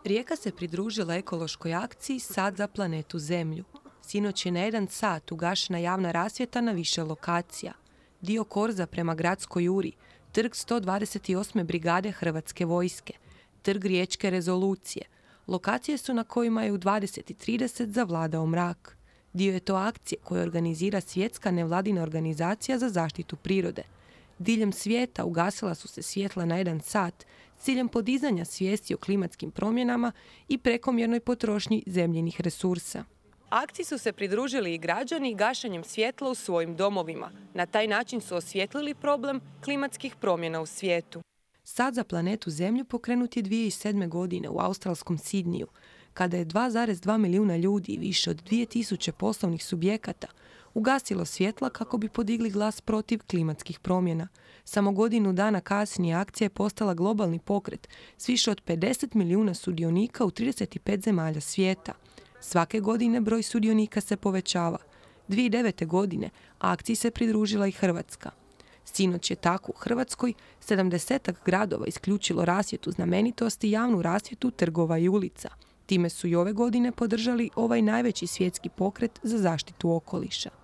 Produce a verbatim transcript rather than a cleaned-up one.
Rijeka se pridružila ekološkoj akciji Sad za planetu Zemlju. Sinoć je na jedan sat ugašena javna rasvjeta na više lokacija. Dio korza prema Gradskoj juri, trg sto dvadeset osme brigade Hrvatske vojske, trg Riječke rezolucije. Lokacije su na kojima je u dvadeset i trideset zavladao mrak. Dio je to akcije koje organizira Svjetska nevladina organizacija za zaštitu prirode. Diljem svijeta ugasila su se svjetla na jedan sat s ciljem podizanja svijesti o klimatskim promjenama i prekomjernoj potrošnji zemljinih resursa. Akciji su se pridružili i građani gašenjem svjetla u svojim domovima. Na taj način su osvijetlili problem klimatskih promjena u svijetu. Sad za planetu Zemlju pokrenut je dvije tisuće sedme. godine u australskom Sidniju, kada je dva zarez dva milijuna ljudi i više od dvije tisuće poslovnih subjekata ugasilo svjetla kako bi podigli glas protiv klimatskih promjena. Samo godinu dana kasnije akcija je postala globalni pokret s više od pedeset milijuna sudionika u trideset pet zemalja svijeta. Svake godine broj sudionika se povećava. dvije tisuće devete. godine akciji se pridružila i Hrvatska. Sinoć je tako u Hrvatskoj sedamdesetak gradova isključilo rasvjetu znamenitosti i javnu rasvjetu trgova i ulica. Time su i ove godine podržali ovaj najveći svjetski pokret za zaštitu okoliša.